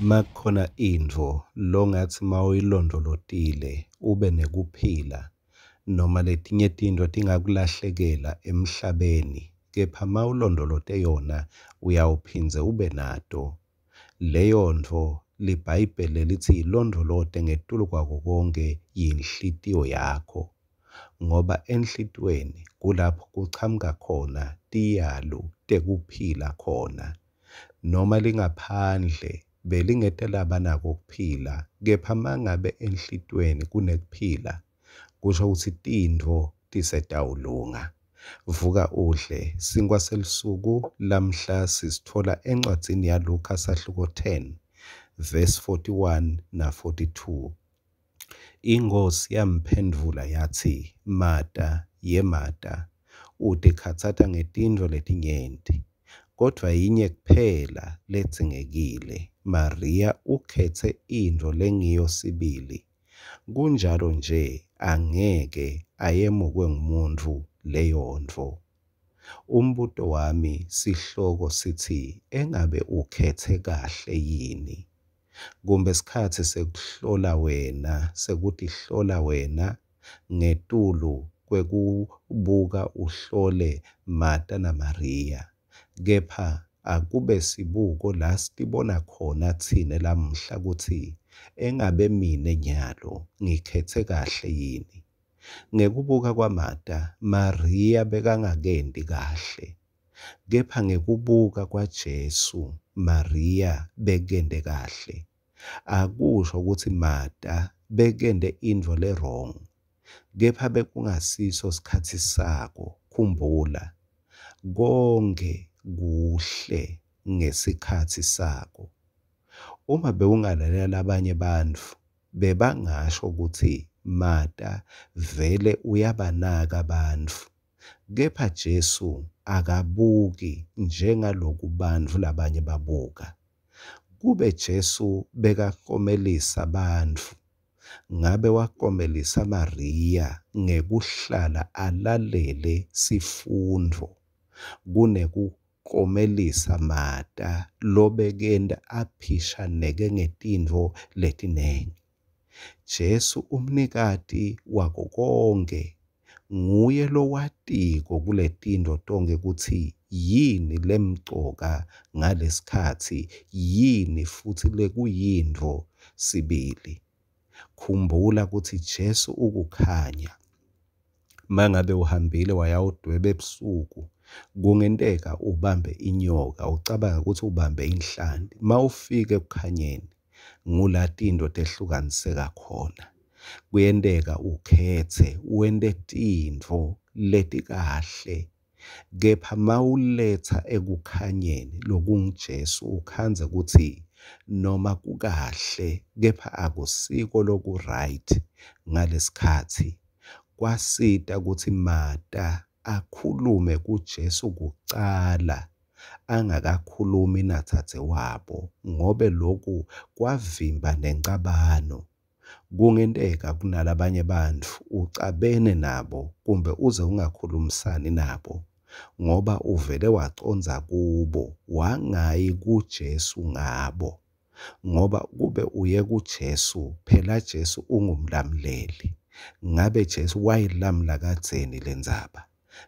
Makukhona intfo longatsi mawuyilondvolotile ube nekuphila noma letinye tintfo tingakulahlekela emhlabeni, kepha mawulondvolote yona uyawuphindze ube nato. Leyo ntfo liBhayibheli lelitsi yilondvolote ngetulu kwako konkhe yinhlitiyo yakho, ngoba enhlitiyweni kulapho kuchamuka khona tiyalu tekuphila khona. Noma lingaphandle belingete laba nako kuphila, kepha mangabe enhlitiyweni kunekuphila, kusho kutsi tintfo tisetawulunga. Vuka udle sinkhwa selusuku lamhla sisitfola encwadzini yaLukha sahluko 10 verse 41 na 42. Inkhosi yamphendvula yatsi, Mata, ye Mata, utikhatsata ngetintfo letinyenti, kodvwa yinye kuphela ledzingekile. Mariya ukhetse intfo lengiyo sibili, kunjalo nje angeke ayemukwe ngumuntfu leyontfo. Umbuto wami sihloko sitsi engabe ukhetse kahle yini? Kumbe sikhatsi sekuhlola wena, sekutihlola wena ngetulu kwekubuka uhlole Mata naMariya. Kepha akube sibuko la sitibona khona tsine lamuhla kutsi engabe mine nyalo ngikhetse kahle yini. Ngekubuka kwaMata, Mariya bekangakenti kahle. Kepha ngekubuka kwaJesu, Mariya bekente kahle. Akusho kutsi Mata bekente intfo le-wrong, kepha bekungasiso sikhatsi sako. Khumbula, konkhe kuhle ngesikhatsi sako. Uma bewungalalela labanye bantfu, bebangasho kutsi Mata vele uyabanaka bantfu, kepha Jesu akabuki njengaloku bantfu labanye babuka. Kube Jesu bekaklomelisa bantfu, ngabe waklomelisa Mariya ngekuhlala alalele sifundvo kunekuklomelisa Mata lobekenta aphishaneke ngetintfo letinengi. Jesu umnikati wako konkhe, nguye lowatiko kuletintfo tonkhe kutsi yini lemcoka ngalesikhatsi, yini futsi lekuyintfo sibili. Khumbula kutsi Jesu ukukhanya. Mangabe uhambile wayawudweba ebusuku, kungenteka ubambe inyoka ucabange kutsi ubambe inhlanti. Mawufika ekukhanyeni, ngula tintfo tehlukaniseka khona. Kuyenteka ukhetse wente tintfo letikahle, kepha mawuletsa ekukhanyeni lokunguJesu ukhandze kutsi noma kukahle kepha akusiko loku-right ngalesikhatsi. Kwasita kutsi Mata akhulume kuJesu kucala angakakhulumi nadzadzewabo ngobe loku kwavimba nencabano. Kungenteka kunalabanye bantfu ucabene nabo kumbe uze ungakhulumisani nabo ngoba uvele wacondza kubo wangayi kuJesu ngabo, ngoba kube uye kuJesu, phela Jesu ungumlamuleli. Ngabe Jesu wayilamula kadzeni lendzaba?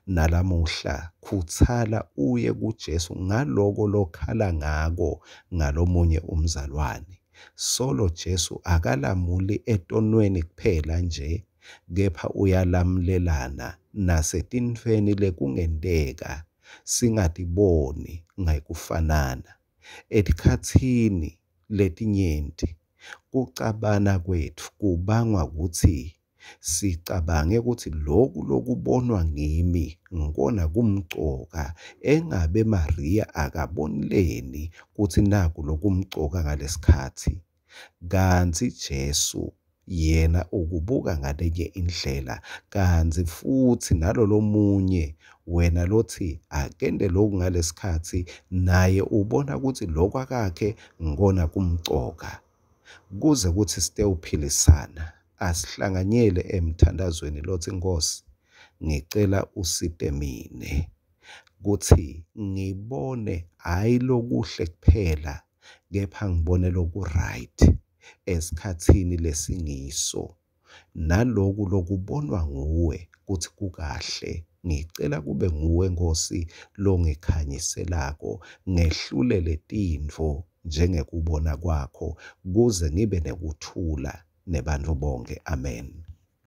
Nalamuhla khutsala uye kuJesu ngaloko lokhala ngako ngalomunye umzalwane. Solo Jesu akalamuli etonweni kuphela nje, kepha uyalamulelana nasetintfweni lekungenteka singatiboni ngekufanana. Etikhatsini letinyenti kucabana kwetfu kubangwa kutsi sicabange kutsi loku lokubonwa ngimi ngikona kumcoka, engabe Mariya akaboni leni kutsi naku lokumcoka ngalesikhatsi. Kantsi Jesu yena ukubuka ngalenye indlela, kantsi futsi nalolomunye wena lotsi akente loku ngalesikhatsi naye ubona kutsi lokhu akakhe ngikona kumcoka. Kuze kutsi sitewuphilisana, asihlanganyele emthandazweni lotsi Nkhosi, ngicela usite mine kutsi ngibone hhayi lokuhle kuphela. Kepha ngibone loku-right esikhatsini lesingiso, naloku lokubonwa nguwe kutsi kukahle. Ngicela kube nguwe Nkhosi longikhanyiselako, ngehlulele tintfo njengekubona kwakho, kuze ngibe nekuthula nebantfu bonkhe. Amen.